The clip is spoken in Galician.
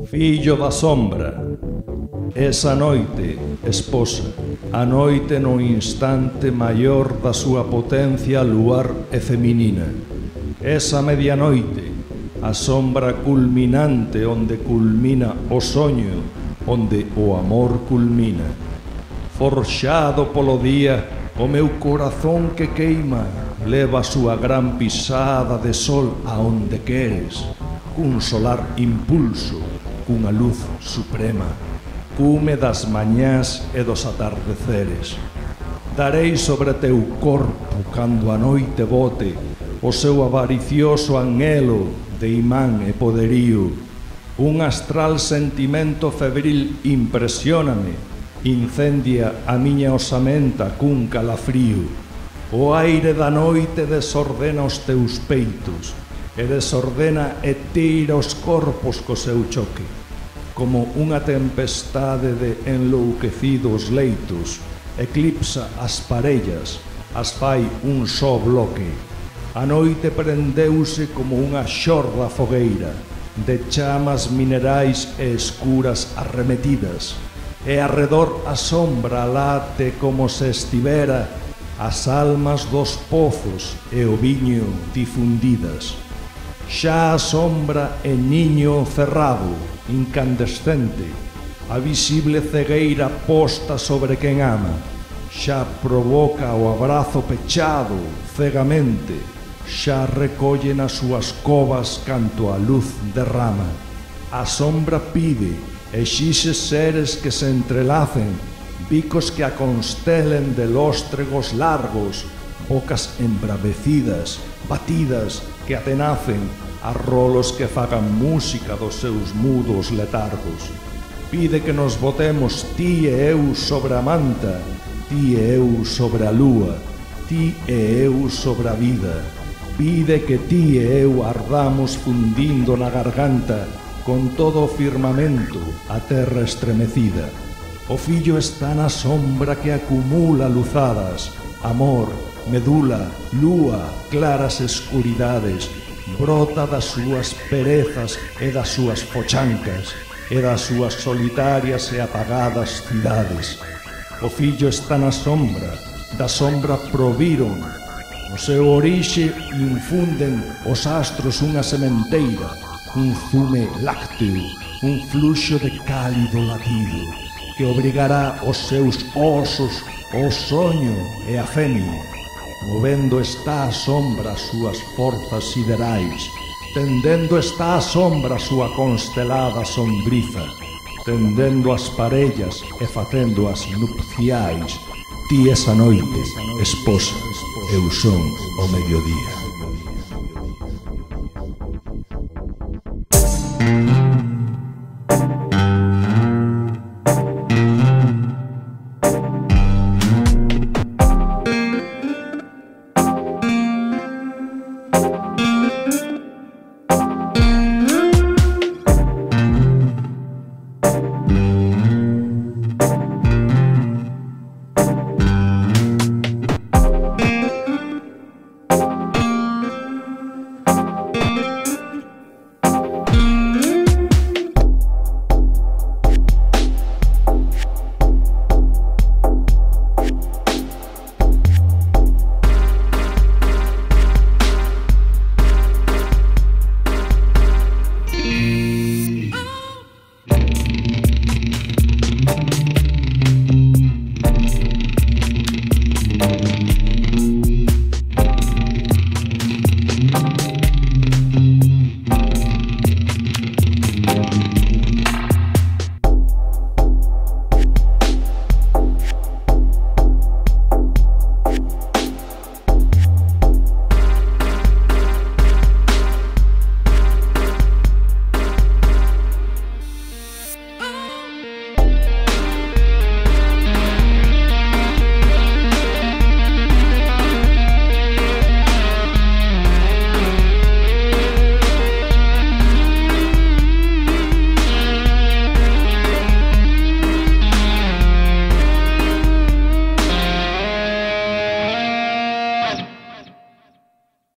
Fillo da sombra, esa noite, esposa, a noite no instante maior da súa potencia luar e feminina. Esa medianoite, a sombra culminante onde culmina o soño, onde o amor culmina. Forxado polo día, o meu corazón que queima leva a súa gran pisada de sol a onde queres, cun solar impulso, cunha luz suprema, cume das mañás e dos atardeceres. Darei sobre teu corpo cando a noite bote o seu avaricioso anhelo de imán e poderío. Un astral sentimento febril impresióname, incendia a miña osamenta cun calafrío. O aire da noite desordena os teus peitos e desordena e tira os corpos co seu choque. Como unha tempestade de enlouquecidos leitos, eclipsa as parellas, as fai un só bloque. A noite prendeuse como unha xorda fogueira, de chamas minerais e escuras arremetidas, e arredor a sombra late como se estivera as almas dos pozos e o viño difundidas. Xa a sombra é niño cerrado, incandescente, a visible cegueira posta sobre quen ama, xa provoca o abrazo pechado, cegamente, xa recolle nas súas covas canto a luz derrama. A sombra pide, exixe seres que se entrelacen, bicos que a constelen de lóstregos largos, bocas embravecidas, batidas, que atenacen, a rolos que fagan música dos seus mudos letargos. Pide que nos botemos ti e eu sobre a manta, ti e eu sobre a lúa, ti e eu sobre a vida. Pide que ti e eu ardamos fundindo na garganta con todo o firmamento, a terra estremecida. O fillo está na sombra que acumula luzadas, amor, medula, lúa, claras escuridades, brota das súas perezas e das súas pochancas e das súas solitarias e apagadas cidades. O fillo está na sombra, da sombra proviron, no seu orixe infunden os astros unha sementeira, un zume lácteo, un fluxo de cálido latido, que obrigará os seus osos ao soño e a femia. Movendo está a sombra as súas forzas siderais, tendendo está a sombra a súa constelada sombriza, tendendo as parellas e facendo as nupciais. Ti esa noite, esposa, eu son o mediodía.